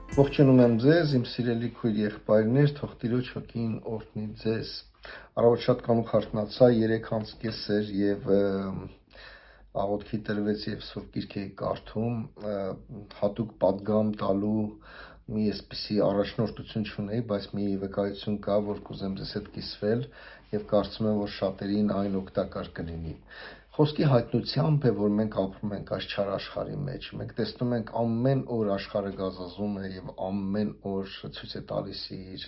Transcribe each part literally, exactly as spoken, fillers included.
Ողջունում եմ ձեզ, իմ սիրելի քույր եղբայրներ, թող Տիրոջ հոգին օրհնի ձեզ։ Առավոտ շատ կանուխ արթնացա, երեք անց կես էր եւ աղոթքի տրվեց եւ Սուրբ Գիրք էի կարդում, հատուկ պատգամ տալու մի այսպիսի առաջնորդություն չունեի, բայց մի վկայություն կա, որ կուզեմ ձեզ հետ կիսվել եւ կարծում եմ, որ շատերին այն օգտակար կլինի։ Խոսքի հայտնությամբ է, որ մենք ապրում ենք այս չար աշխարհի մեջ։ Մենք տեսնում ենք ամեն օր աշխարհը գազազում է եւ ամեն օր ցույց է տալիս իր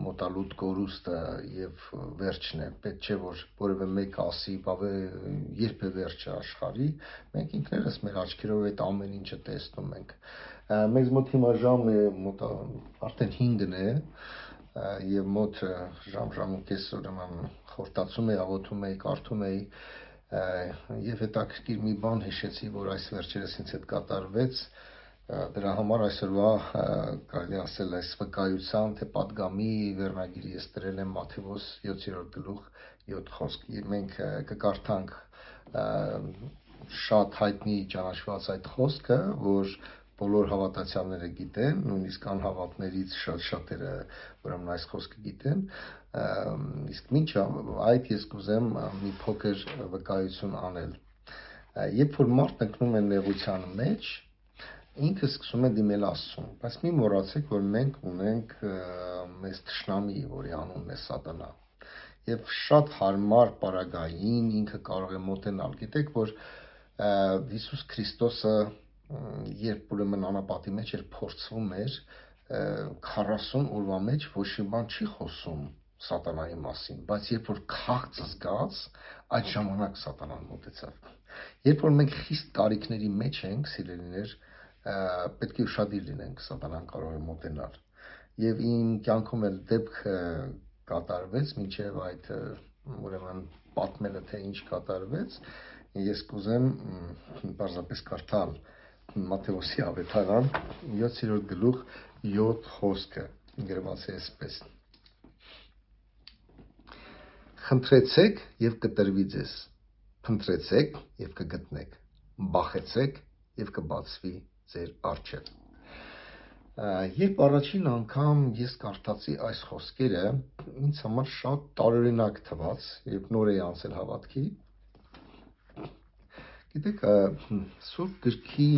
մոտալուտ կորուստը եւ վերջն է։ Պետք չէ որ որևէ մեկ ասի, բավե երբ է վերջը աշխարհի։ Մենք ինքներս մեր աչքերով այդ ամեն ինչը տեսնում ենք։ Մեզ մոտ հիմա ժամը մոտ արդեն հինգն է եւ մոտ ժամ ժամ ու կես ուրեմն խորտացում էի, աղոթում էի, կարդում էի եւ հետաքրքիր մի բան հիշեցի, որ այս վերջերս ինձ հետ կատարվեց։ Դրա համար այսօրվա կարելի ասել այս վկայության թե պատգամի վերնագիրը ես դրել եմ Մատթեոս յոթերորդ գլուխ յոթ խոսք։ Մենք կկարդանք շատ հայտնի ճանաչված այդ խոսքը, որ բոլոր հավատացյալները գիտեն, նույնիսկ անհավատներից շատ շատերը ուրեմն այս խոսքը գիտեն, իսկ մինչ այդ ես կուզեմ մի փոքր վկայություն անել։ Երբ որ մարդն ընկնում է նեղության մեջ, ինքը սկսում է դիմել Աստծուն, բայց մի մոռացեք, որ մենք ունենք մեզ թշնամի, որի անունն է Սատանա։ Եվ շատ հարմար պարագային ինքը կարող է մոտենալ։ Գիտեք, որ Հիսուս Քրիստոսը երբ ուրեմն անապատի մեջ էր փորձվում էր, քառասուն օրվա մեջ ոչ մի բան չի խոսում Սատանայի մասին, բայց երբ որ քաղց զգաց, այդ ժամանակ Սատանան մոտեցավ։ Երբ որ մենք խիստ կարիքների մեջ ենք, սիրելիներ, պետք է ուշադիր լինենք, Սատանան կարող է մոտենալ։ Եվ իմ կյանքում էլ դեպք կատարվեց, մինչև այդ ուրեմն պատմելը թե ինչ կատարվեց, ես կուզեմ բարձրապես կարդալ Մատթեոսի ավետարան յոթերորդ գլուխ յոթ խոսքը, գրված է այսպես. Խնդրեցեք եւ կտրվի ձեզ, փնտրեցեք եւ կգտնեք, բախեցեք եւ կբացվի ձեր առջև։ Երբ առաջին անգամ ես կարդացի այս խոսքերը, ինձ համար շատ տարօրինակ թվաց, երբ նոր էի անցել հավատքի։ Գիտեք, Սուրբ Գրքի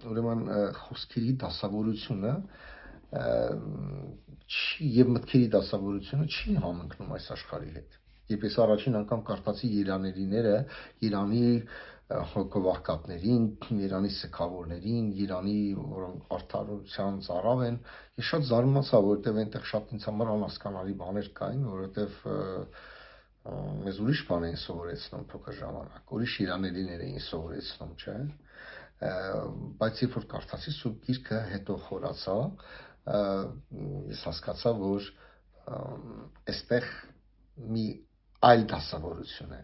ուրեմն խոսքերի դասավորությունը չի եւ մտքերի դասավորությունը չի համընկնում այս աշխարհի հետ։ Երբ ես առաջին անգամ կարդացի Երանելիները, Երանի հոգովաղկատներին, Երանի սգավորներին, Երանի, որոնք արդարության ծառավ են, ես շատ զարմացա, որովհետեւ այնտեղ շատ ինձ համար անհասկանալի բաներ կային, որովհետեւ մեզ ուրիշ բան էին սովորեցնում փոքր ժամանակ, ուրիշ Երանելիներ էին սովորեցնում, չէ՞։ Բայց երբ որ կարդացի Սուրբ Գիրքը, հետո խորացա, ես հասկացա, որ այստեղ մի այլ դասավորություն է։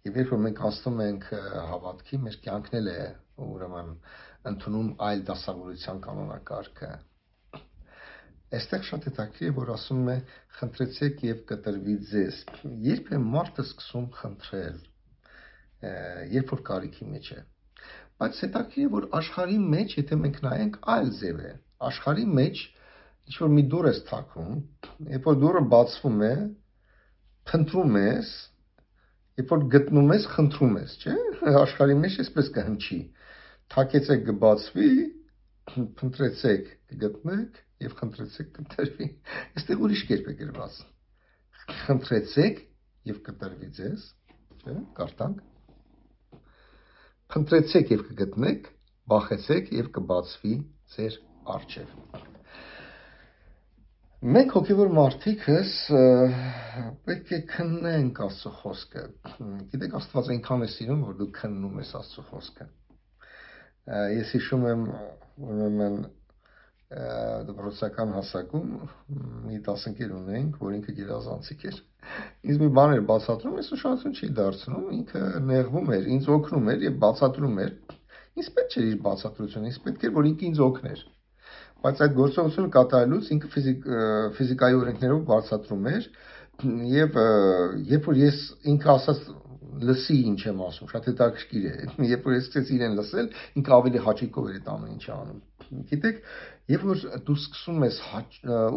Եվ երբ որ մենք անցնում ենք հավատքի, մեր կյանքն էլ է ուրեմն ընդունում այլ դասավորության կանոնակարգը։ Այստեղ շատ հետաքրքիր է, որ ասում է խնդրեցեք եւ կտրվի ձեզ։ Երբ է մարդը սկսում խնդրել, երբ որ կարիքի մեջ է։ Բայց հետաքրքիր է, որ աշխարհի մեջ, եթե մենք նայենք, այլ ձև է։ Աշխարհի մեջ ինչ որ մի դուռ է թակում, երբ որ դուռը բացվում է, փնտրում ես, երբ որ գտնում ես, խնդրում ես, չէ՞։ Աշխարհի մեջ էսպես կհնչի։ Թակեցեք կբացվի, փնտրեցեք կգտնեք եւ խնդրեցեք կտրվի։ Այստեղ ուրիշ կերպ է գրված։ Խնդրեցեք եւ կտրվի ձեզ, չէ՞, կարդանք։ Խնդրեցեք եւ կգտնեք, բախեցեք եւ կբացվի ձեր առջև։ Մենք հոգևոր մարդիկս պետք է քննենք Աստծո խոսքը։ Գիտեք, Աստված այնքան է սիրում, որ դու քննում ես Աստծո խոսքը։ Ես հիշում եմ ուրեմն դպրոցական հասակում մի դասընկեր ունեինք, որ ինքը գերազանցիկ էր։ Ինձ մի բան էր բացատրում, ես ուշադրություն չի դարձնում, ինքը նեղվում էր, ինձ օգնում էր եւ բացատրում էր։ Ինձ պետք չէր իր բացատրությունը, ինձ պետք էր, որ ինքը ինձ օգներ։ Բայց այդ գործողությունը կատարելուց ինքը ֆիզիկ ֆիզիկայի օրենքներով բացատրում էր եւ երբ որ ես ինքը ասած լսի ինչ եմ ասում, շատ հետաքրքիր է։ Երբ որ ես սկսեցի իրեն լսել, ինքը ավելի հաճիկով էր այդ ամեն ինչը անում։ Գիտեք, երբ որ դու սկսում ես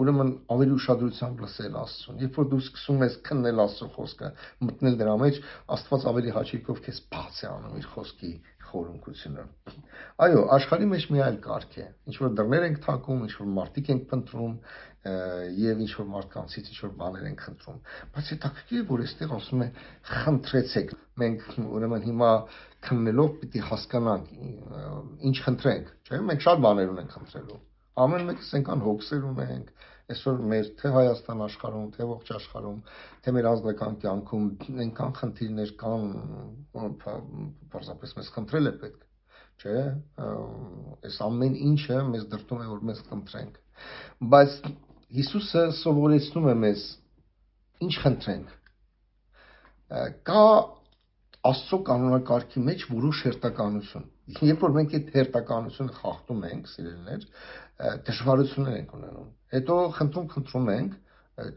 ուրեմն ավելի ուշադրությամբ լսել Աստծուն, երբ որ դու սկսում ես քննել Աստծո խոսքը, մտնել դրա մեջ, Աստված ավելի հաճույքով քեզ բաց է անում իր խոսքի խորունկությունը։ Այո, աշխարհի մեջ մի այլ կարգ է, ինչ որ դռներ ենք թակում, ինչ որ մարդիկ ենք փնտրում եւ ինչ որ մարդկանցից ինչ որ բաներ ենք խնդրում, բայց հետաքրքիր է, որ այստեղ ասում է խնդրեցեք։ Մենք ուրեմն հիմա քննելով պիտի հասկանանք ինչ խնդրենք, չէ՞։ Մենք շատ բաներ ունենք խնդրելու։ Ամեն մեկս այնքան հոգսեր ունենք, այսօր մեր թե Հայաստան աշխարհում, թե ողջ աշխարհում, թե մեր ազգական կյանքում այնքան խնդիրներ կան, պարզապես մեզ խնդրել է պետք, չէ՞։ Այս ամեն ինչը մեզ դրդում է, որ մեզ խնդրենք։ Բայց Հիսուսը սովորեցնում է մեզ ինչ խնդրենք։ Կա Աստծո կանոնակարգի մեջ որոշ հերթականություն։ Երբ որ մենք այդ հերթականությունը խախտում ենք, սիրելիներ, դժվարություններ ենք ունենում։ Հետո խնդրում խնդրում ենք,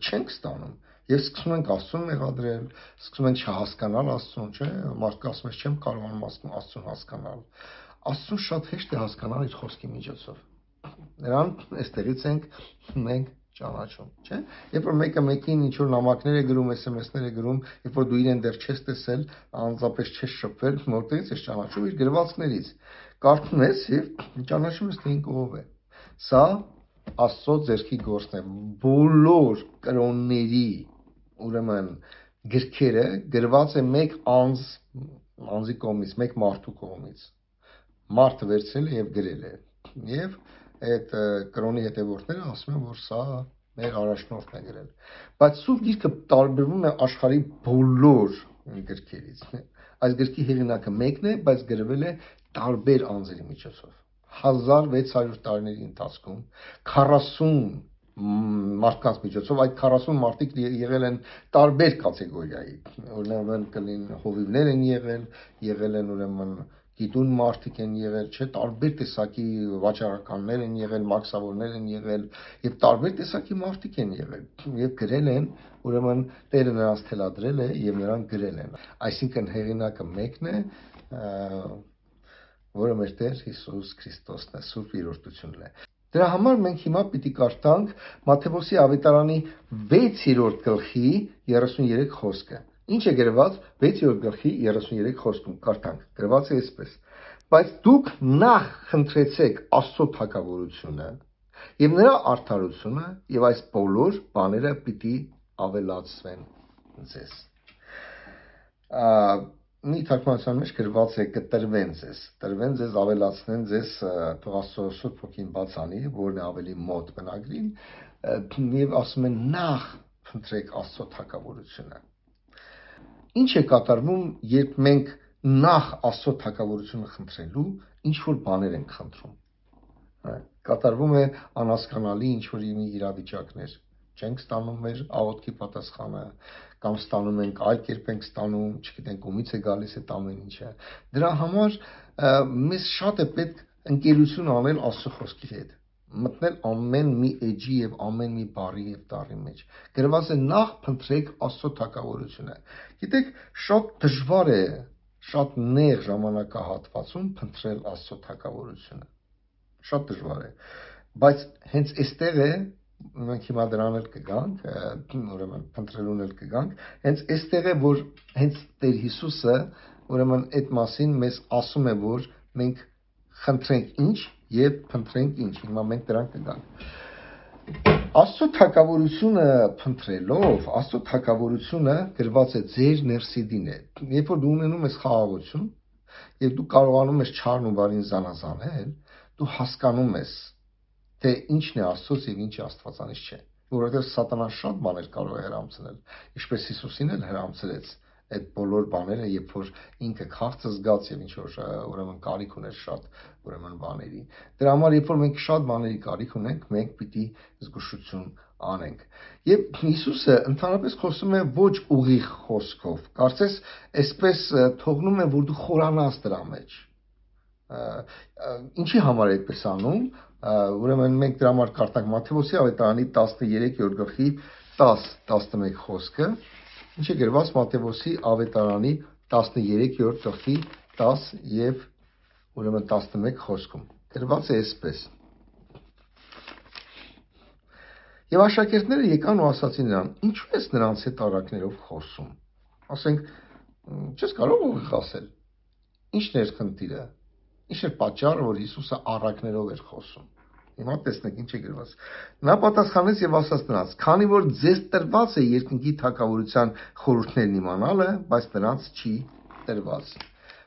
չենք ստանում։ Եվ սկսում ենք Աստծուն մեղադրել, սկսում ենք չհասկանալ Աստծուն, չէ՞։ Մարդը ասում է, չեմ կարողանում Աստծուն հասկանալ։ Աստծուն շատ հեշտ է հասկանալ իր խոսքի միջոցով։ Նրան այստեղից ենք մենք ճանաչում, չէ՞։ Երբ որ մեկը մեկին ինչ որ նամակներ է գրում, էս էմ էսներ է գրում, երբ որ դու իրեն դեռ չես տեսել, անձապես չես շփվել, որտեղից ես ճանաչում իր գրվածքներից։ Կարդում ես եւ ճանաչում ես, թե ինքը ով է։ Սա Աստծո ձեռքի գործն է։ Բոլոր կրոնների, ուրեմն գրքերը գրված է մեկ անձ, անձի կողմից, մեկ մարդու կողմից։ Մարդը վերցրել է եւ գրել է։ Եվ այդ կրոնի հետևորդները ասում են, որ սա մեր առաջնորդն է գրել։ Բայց Սուրբ Գիրքը տարբերվում է աշխարհի բոլոր գրքերից։ Այս գրքի հեղինակը մեկն է, բայց գրվել է տարբեր անձերի միջոցով։ հազար վեց հարյուր տարիների ընթացքում քառասուն մարդկանց միջոցով, այդ քառասուն մարդիկ եղել են տարբեր կատեգորիայի, ուրեմն կլին հովիվներ են եղել, եղել են ուրեմն գիտուն մարդիկ են եղել, չէ, տարբեր տեսակի վաճառականներ են եղել, մաքսավորներ են եղել եւ տարբեր տեսակի մարդիկ են եղել եւ գրել են, ուրեմն Տերը նրանց թելադրել է եւ նրանք գրել են։ Այսինքն հեղինակը մեկն է, որը մեր Տեր Հիսուս Քրիստոսն է, Սուրբ Երրորդությունն է։ Դրա համար մենք հիմա պիտի կարդանք Մատթեոս ավետարանի վեցերորդ գլխի երեսուներեք խոսքը։ Ինչ է գրված վեցերորդ գլխի երեսուներեք խոսքում, կարդանք։ Գրված է այսպես. Բայց դուք նախ խնդրեցեք Աստծո թագավորությունը եւ նրա արդարությունը, եւ այս բոլոր բաները պիտի ավելացվեն ձեզ։ Մի թարգմանության մեջ գրված է կտրվեն ձեզ, տրվեն ձեզ, ավելացնեն ձեզ, թող Աստծո Սուրբ Հոգին բաց անի, որն է ավելի մոտ բնագրին, եւ ասում են նախ խնդրեք Աստծո թագավորությունը։ Ինչ է կատարվում, երբ մենք նախ Աստծո թագավորությունը խնդրելու ինչ որ բաներ ենք խնդրում։ Կատարվում է անհասկանալի ինչ որ իրավիճակներ։ Չենք ստանում մեր աղոթքի պատասխանը, կամ ստանում ենք այլ կերպ ենք ստանում, չգիտենք ումից է գալիս այդ ամեն ինչը։ Դրա համար մեզ շատ է պետք ընկերություն անել Աստծո խոսքի հետ, մտնել ամեն մի էջի եւ ամեն մի բառի եւ տառի մեջ։ Գրված է նախ փնտրեք Աստծո թագավորությունը։ Գիտեք, շատ դժվար է, շատ նեղ ժամանակահատվածում փնտրել Աստծո թագավորությունը։ Շատ դժվար է, բայց հենց այստեղ է, մենք հիմա դրան էլ կգանք, ուրեմն փնտրելուն էլ կգանք, հենց այստեղ է, որ հենց Տեր Հիսուսը, ուրեմն այդ մասին մեզ ասում է, որ մենք խնդրենք ինչ եւ փնտրենք ինչ։ Հիմա մենք դրան կգանք։ Աստծո թագավորությունը փնտրելով, Աստծո թագավորությունը գրված է ձեր ներսիդին է։ Երբ որ դու ունենում ես խաղաղություն, եւ դու կարողանում ես չարն ու բարին զանազանել, դու հասկանում ես, թե ինչն է Աստծոց եւ ինչը Աստվածանից չէ, որովհետեւ սատանան շատ բաներ կարող է հրամցնել, ինչպես Հիսուսին էլ հրամցրեց այդ բոլոր բաները, երբ որ ինքը քաղցը զգաց եւ ինչ որ ուրեմն կարիք ուներ շատ ուրեմն բաների։ Դրա համար երբ որ մենք շատ բաների կարիք ունենք, մենք պիտի զգուշություն անենք։ Եվ Հիսուսը ընդհանրապես խոսում է ոչ ուղիղ խոսքով, կարծես այսպես թողնում է, որ դու խորանաս դրա մեջ։ Ինչի համար է այդպես անում, ուրեմն մենք դրա համար կարդանք Մատթեոս ավետարանի տասներորդ գլխի տաս տասնմեկ խոսքը, ինչ է գրված Մատթեոս ավետարանի տասներորդ գլխի տաս եւ ուրեմն տասնմեկ խոսքում։ Գրված է այսպես. Եվ աշակերտները եկան ու ասացին նրան. «Ինչու ես նրանց հետ առակներով խոսում»։ Ասենք, չես կարող ուղիղ ասել։ Ի՞նչն էր խնդիրը։ Ինչ էր պատճառը, որ Հիսուսը առակներով էր խոսում։ Հիմա տեսնենք ինչ է գրված։ Նա պատասխանեց եւ ասաց նրանց. «Քանի որ ձեզ տրված է երկնքի թագավորության խորհուրդներն իմանալը, բայց նրանց չի տրված»։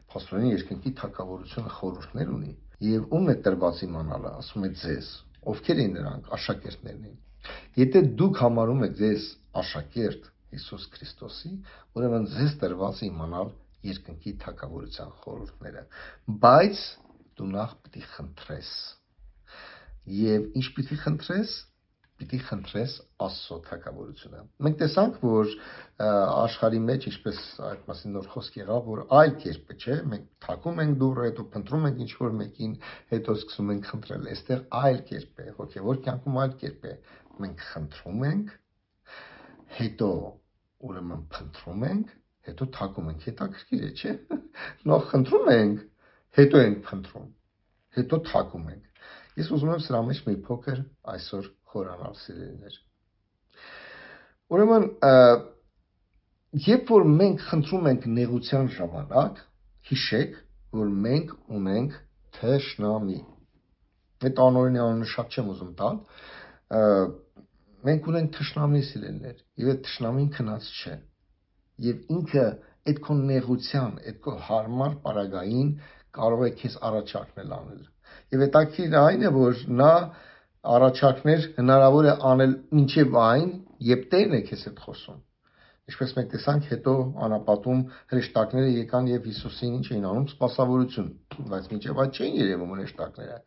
Փաստորեն երկնքի թագավորությունը խորհուրդներ ունի։ Եվ ում է տրված իմանալը, ասում է ձեզ։ Ովքեր են նրանք, աշակերտներն են։ Եթե դուք համարում եք ձեզ աշակերտ Հիսուս Քրիստոսի, ուրեմն ձեզ տրված է իմանալ երկնքի թագավորության խորհուրդները, բայց դու նախ պիտի խնդրես։ Եվ ինչ պիտի խնդրես։ Պիտի խնդրես Աստծո թագավորությունը։ Մենք տեսանք, որ աշխարհի մեջ, ինչպես այդ մասին նոր խոսք եղավ, որ այլ կերպ է, չէ՞, մենք թակում ենք դուռը, հետո փնտրում ենք ինչ-որ մեկին, հետո սկսում ենք խնդրել։ Այստեղ այլ կերպ է, հոգևոր կյանքում այլ կերպ է։ Մենք խնդրում ենք, հետո ուրեմն փնտրում ենք, հետո թակում ենք։ Հետաքրքիր է, չէ՞։ Նախ խնդրում ենք, հետո ենք փնտրում, հետո թակում ենք։ Ես ուզում եմ սրա մեջ մի փոքր այսօր խորանալ, սիրելիներ։ Ուրեմն, երբ որ մենք խնդրում ենք նեղության ժամանակ, հիշեք, որ մենք ունենք թշնամի։ Այդ անօրինի անունը շատ չեմ ուզում տալ։ Մենք ունենք թշնամի, սիրելիներ, եւ այդ թշնամին քնած չէ։ Եվ ինքը այդ քո նեղության, այդ քո հարմար պարագային կարող է քեզ առաջարկնել անել։ Եվ հետաքրքիրը այն է, որ նա առաջարկներ հնարավոր է անել մինչև այն, երբ Տերն է քեզ հետ խոսում։ Ինչպես մենք տեսանք, հետո անապատում հրեշտակները եկան եւ Հիսուսին ինչ էին անում, սպասավորություն, բայց մինչև այդ չէին երևում հրեշտակները։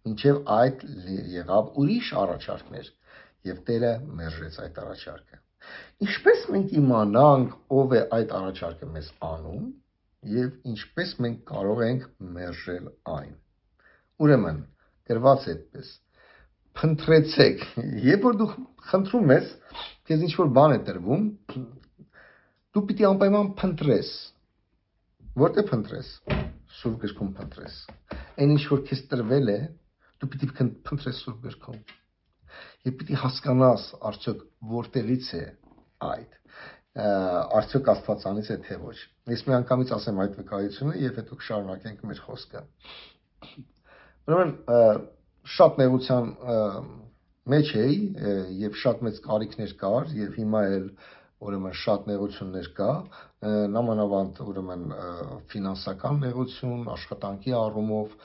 Մինչև այդ եղավ ուրիշ առաջարկներ եւ Տերը մերժեց այդ առաջարկը։ Ինչպես մենք իմանանք, ով է այդ առաջարկը մեզ անում եւ ինչպես մենք կարող ենք մերժել այն։ Ուրեմն, գրված է այդպես. Փնտրեցեք, երբ որ դու խնդրում ես, քեզ ինչ-որ բան է տրվում, դու պիտի անպայման փնտրես։ Որտե փնտրես։ Սուրբ գրքում փնտրես։ Այն ինչ որ քեզ տրվել է, դու պիտի փնտրես Սուրբ գրքում։ Եվ պիտի հասկանաս, արդյոք որտեղից է այդ, արդյոք Աստվածանից է թե ոչ։ Ես մի անգամից ասեմ այդ վկայությունը եւ հետո կշարունակենք մեր խոսքը։ Ուրեմն շատ նեղության մեջ էի եւ շատ մեծ կարիքներ կար եւ հիմա էլ ուրեմն շատ նեղություններ կա, նամանավանդ ուրեմն ֆինանսական նեղություն, աշխատանքի առումով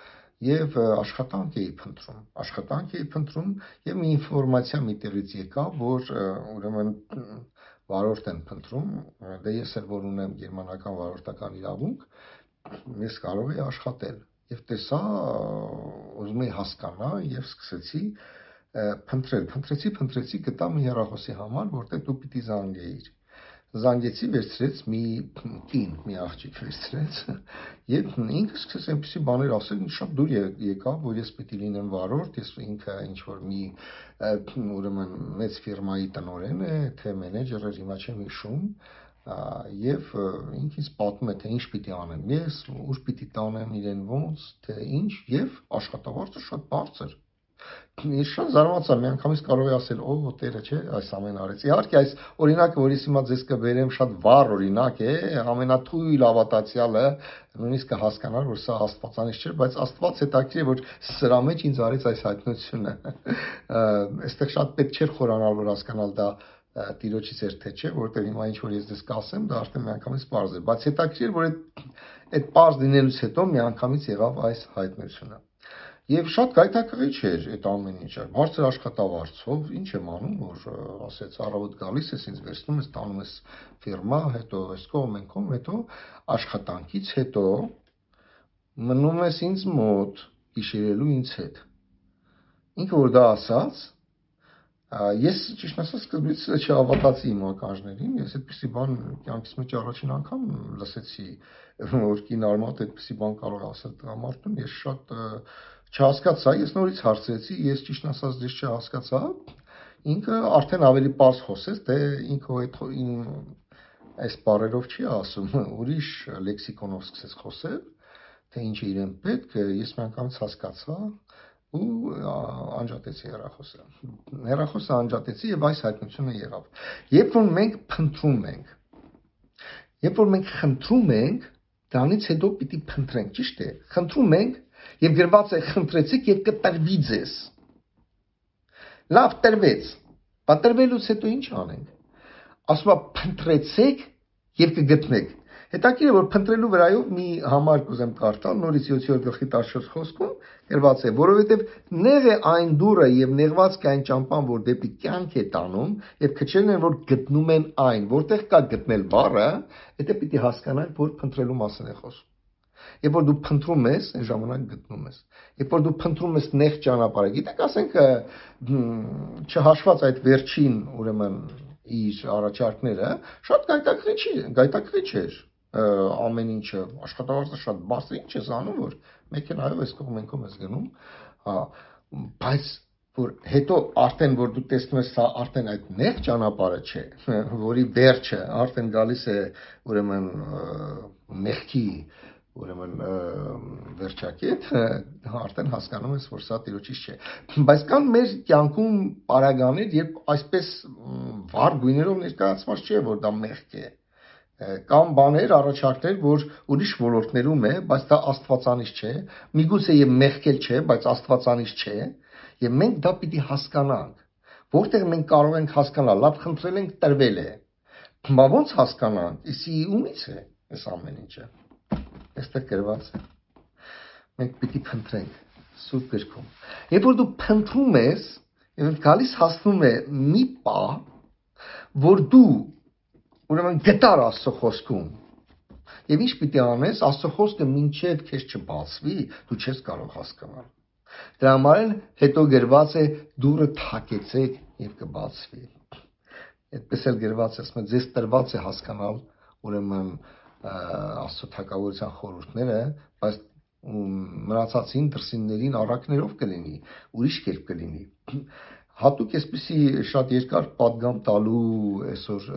եւ աշխատանք էի փնտրում, աշխատանք էի փնտրում եւ մի ինֆորմացիա մի տեղից եկավ, որ ուրեմն վարորդ են փնտրում, դե ես էլ որ ունեմ գերմանական վարորդական իրավունք, ես կարող եի աշխատել եւ տեսա, ուզում էի հասկանալ եւ սկսեցի փնտրել, փնտրեցի, փնտրեցի, գտա մի հեռախոսի համար, որտեղ դու պիտի զանգեիր։ Զանգեցի, վերցրեց մի կին, մի աղջիկ վերցրեց եւ ինքը սկսեց այնպեսի բաներ ասել, շատ դուր եկավ, որ ես պիտի լինեմ վարորդ, ես ինքը ինչ որ մի ուրեմն մեծ ֆիրմայի տնօրեն է, թե մենեջեր էր, հիմա չեմ հիշում, եւ ինքը ինձ պատմում է, թե ինչ պիտի անեմ ես, ուր պիտի տանեմ իրեն ոնց, թե ինչ, եւ աշխատավարձը շատ բարձր։ Ես շատ զարմացա, միանգամից կարող եմ ասել, օ, Տերը չէ, այս ամեն արեց։ Իհարկե, այս օրինակը, որ ես հիմա ձեզ կբերեմ, շատ վառ օրինակ է, ամենաթույլ ավատացյալը նույնիսկ կհասկանար, որ սա Աստվածանից չէ, բայց Աստված հետաքրքիր է, որ սրա մեջ ինձ արեց այս հայտնությունը։ Այստեղ շատ պետք չէր խորանալ, որ հասկանալ դա Տիրոջից էր թե չէ, որտեղ հիմա ինչ որ ես դες կասեմ, դա արդեն միանգամից պարզ է, բայց հետաքրքիր որ այդ այդ պարզ լինելուց հետո միանգամից եղավ այս հայտնությունը։ Եվ շատ գայթակղիչ էր այդ ամեն ինչը։ Բարձր աշխատավարձով ինչ եմ անում, որ ասեց առավոտ գալիս ես, ինձ վերցնում ես, տանում ես ֆիրմա, հետո այս կողմ են կողմ, հետո աշխատանքից հետո մնում ես ինձ մոտ գիշերելու ինձ հետ։ Ինքը որ դա ասաց, ես ճիշտ ասած սկզբից չհավատացի իմ ականջներին, ես այդպեսի բան կյանքիս մեջ առաջին անգամ լսեցի, որ կին արմատ այդպեսի բան կարող ասել տղամարդուն, ես շատ չհասկացա, ես նորից հարցրեցի, ես ճիշտ ասած դες չհասկացա, ինքը արդեն ավելի պարզ խոսեց, թե ինքը այդ այս բառերով չի ասում, ուրիշ լեքսիկոնով սկսեց խոսել, թե ինչ է իրեն պետք, ես միանգամից հասկացա, ու անջատեցի հեռախոսը։ Հեռախոսը անջատեցի եւ այս հայտնությունը եղավ։ Երբ որ մենք փնտրում ենք, երբ որ մենք խնդրում ենք, դրանից հետո պիտի փնտրենք, ճիշտ է։ Խնդրում ենք եւ գրված է խնդրեցիք եւ կտրվի ձեզ։ Լավ տրվեց։ Պատրվելուց հետո ինչ անենք։ Ասում է փնտրեցեք եւ կգտնեք։ Հետաքրքիր է որ փնտրելու վրայով մի համար կուզեմ կարդալ նորից յոթերորդ գլխի տասնչորս խոսքում գրված է, որովհետեւ նեղ է այն դուռը եւ նեղված կա այն ճամփան, որ դեպի կյանք է տանում, եւ քչերն են որ գտնում են այն, որտեղ կա գտնել բառը, դա պիտի հասկանալ, որ փնտրելու մասին է խոսում։ Երբ որ դու փնտրում ես, այն ժամանակ գտնում ես։ Երբ որ դու փնտրում ես նեղ ճանապարհը, գիտեք, ասենք չհաշված այդ վերջին, ուրեմն իր առաջարկները, շատ գայթակղիչ գայթակղիչ էր ամեն ինչը, աշխատավարձը շատ բարձր, ինչ ես անում, որ մեքենայով այս կողմենքով ես գնում, հա, բայց որ հետո արդեն որ դու տեսնում ես, սա արդեն այդ նեղ ճանապարհը չէ, որի վերջը արդեն գալիս է ուրեմն մեղքի ուրեմն վերջակետ, արդեն հասկանում ես, որ սա տիրոջից չէ։ Բայց կան մեր կյանքում պարագաներ, երբ այսպես վառ գույներով ներկայացված չէ, որ դա մեղք է։ Կամ բաներ, առաջարկներ, որ ուրիշ ոլորտներում է, բայց դա աստվածանից չէ, միգուցե եւ մեղքել չէ, բայց աստվածանից չէ, եւ մենք դա պիտի հասկանանք։ Որտեղ մենք կարող ենք հասկանալ, լավ խնդրել ենք, տրվել է։ Բա ո՞նց հասկանանք, իսի ումից է այս ամեն ինչը։ Այստեղ գրված է։ Մենք պիտի փնտրենք Սուրբ գրքում։ Երբ որ դու փնտրում ես, եւ գալիս հասնում է մի պահ, որ դու ուրեմն գտար Աստծո խոսքում։ Եվ ինչ պիտի անես, Աստծո խոսքը մինչև քեզ չբացվի, դու չես կարող հասկանալ։ Դրա համար էլ հետո գրված է դուռը թակեցեք եւ կբացվի։ Այդպես էլ գրված է, ասում է, ձեզ տրված է հասկանալ ուրեմն Աստծո թագավորության խորհուրդները, բայց մնացածին դրսիններին առակներով կլինի, ուրիշ կերպ կլինի։ Հատուկ այսպեսի շատ երկար պատգամ տալու այսօր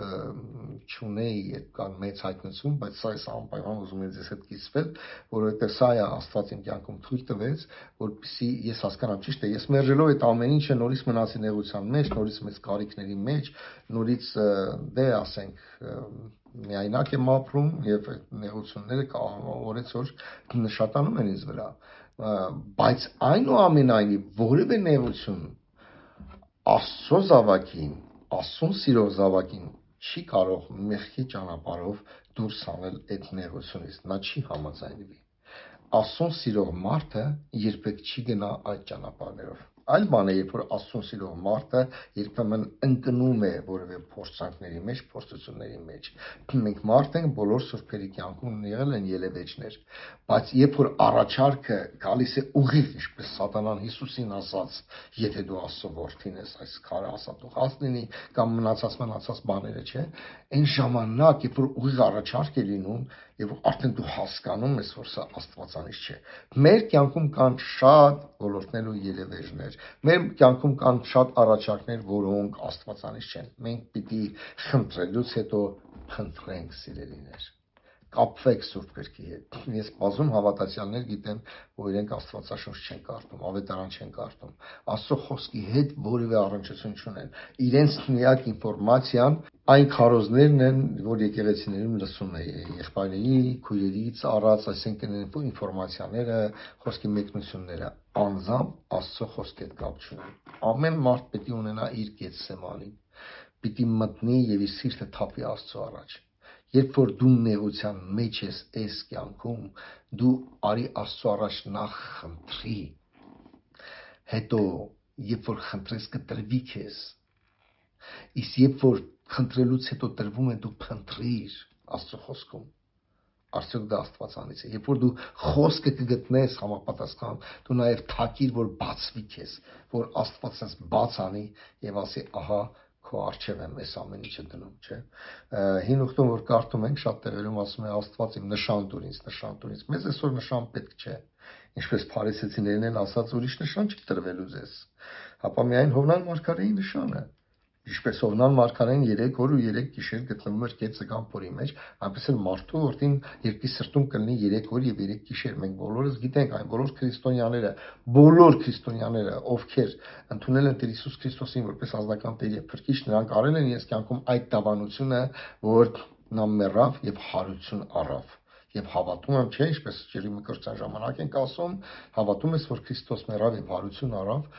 չունեի, երբ կան մեծ հայտնություն, բայց սա էս անպայման ուզում եմ ձեզ հետ կիսվել, որովհետև սա է Աստված իմ կյանքում թույլ տվեց, որպեսզի ես հասկանամ, ճիշտ է, ես մերժելով այդ ամեն ինչը նորից մնացի նեղության մեջ, նորից մեծ կարիքների մեջ, նորից դե ասենք միայնակ եմ ապրում եւ այդ նեղությունները օրեցօր նշատանում են ինձ վրա, բայց այնուամենայնիվ որևէ նեղություն Աստծո զավակին, Աստծուն սիրող զավակին չի կարող մեղքի ճանապարհով դուրս հանել այդ նեղությունից, նա չի համաձայնվի։ Աստծուն սիրող մարդը երբեք չի գնա այդ ճանապարհներով։ Այլ բան է, երբ որ Աստծուն սիրող մարդը երբեմն ընկնում է որևէ փորձանքների մեջ, փորձությունների մեջ։ Մենք մարդ ենք, բոլոր սուրբերի կյանքում եղել են ելևէջներ, բայց երբ որ առաջարկը գալիս է ուղիղ, ինչպես Սատանան Հիսուսին ասաց, եթե դու Աստծո որդին ես, այս քարը ասատուղած լինի, կամ մնացած մնացած բաները, չէ, այն ժամանակ, երբ որ ուղիղ առաջարկ է լինում, եւ արդեն դու հասկանում ես, որ սա աստվածանից չէ։ Մեր կյանքում կան շատ ոլորտներ ու ելևէջներ։ Մեր կյանքում կան շատ առաջարկներ, որոնք աստվածանից չեն։ Մենք պիտի խնդրելուց հետո խնդրենք, սիրելիներ։ Կապվեք Սուրբ գրքի հետ։ Ես բազում հավատացյալներ գիտեմ, որ իրենք Աստվածաշունչ չեն կարդում, ավետարան չեն կարդում, Աստծո խոսքի հետ որևէ առնչություն չունեն։ Իրենց միակ ինֆորմացիան այն քարոզներն են, որ եկեղեցիներում լսում է եղբայրների, քույրերից առած, այսինքն ինֆորմացիաները, խոսքի մեկնությունները, անձամբ Աստծո խոսքի հետ կապ չունեն։ Ամեն մարդ պետք է ունենա իր գեթսեմանին, պիտի մտնի եւ իր սիրտը թափի Աստծո առաջ։ Երբ որ դու նեղության մեջ ես այս կյանքում, դու արի Աստծո առաջ նախ խնդրի, հետո երբ որ խնդրես կտրվի քեզ, իսկ երբ որ խնդրելուց հետո տրվում է, դու փնտրիր Աստծո խոսքում, արդյոք դա աստվածանից է։ Երբ որ դու խոսքը կգտնես համապատասխան, դու նաև թակիր, որ բացվի քեզ, որ Աստվածը բաց անի եւ ասի, ահա քո արժև եմ այս ամեն ինչը դնում, չէ։ Հին ուխտում որ կարդում ենք, շատ տեղերում ասում է Աստված իմ նշան տուր ինձ, նշան տուր ինձ։ Մեզ այսօր նշան պետք չէ։ Ինչպես փարիսեցիներն են ասած, ուրիշ նշան չի տրվելու ձեզ։ Հապա միայն Հովնան մարգարեի նշանը։ Ինչպես Օվնան մարգարեն երեք օր ու երեք գիշեր գտնվում էր կեցը կամ փորի մեջ, այնպես էլ մարդու որդին երկրի սրտում կլինի երեք օր եւ երեք գիշեր։ Մենք բոլորս գիտենք, այն բոլոր քրիստոնյաները, բոլոր քրիստոնյաները, ովքեր ընդունել են Տեր Հիսուս Քրիստոսին որպես ազնական Տեր եւ Փրկիչ, նրանք արել են իրենց կյանքում այդ դավանությունը, որ նա մեռավ եւ հարություն առավ։ Եվ հավատում եմ, չէ, ինչպես ջրի մկրտության ժամանակ ենք ասում, հավատում ես, որ Քրիստոս մեռավ եւ հարություն առավ,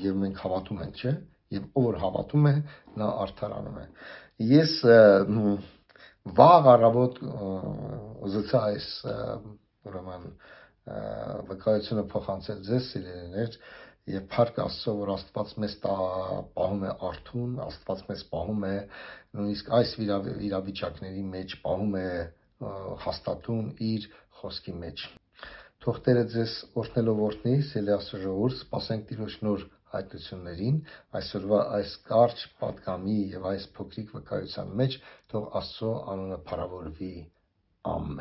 եւ մենք հավատում ենք, չէ՞։ Եվ ով որ հավատում է, նա արդարանում է։ Ես վաղ առավոտ ուզեցա այս ուրեմն վկայությունը փոխանցել ձեզ, սիրելիներ, եւ փառք Աստծո, որ Աստված մեզ պահում է արթուն, Աստված մեզ պահում է նույնիսկ այս իրավիճակների մեջ, պահում է հաստատուն իր խոսքի մեջ։ Թող Տերը ձեզ օրհնելով օրհնի, սիրելի Աստծո ժողովուրդ, սպասենք Տիրոջ նոր հայտնություններին այսօրվա այս կարճ պատգամի եւ այս փոքրիկ վկայության մեջ, թող Աստծո անունը փառավորվի։ Ամեն։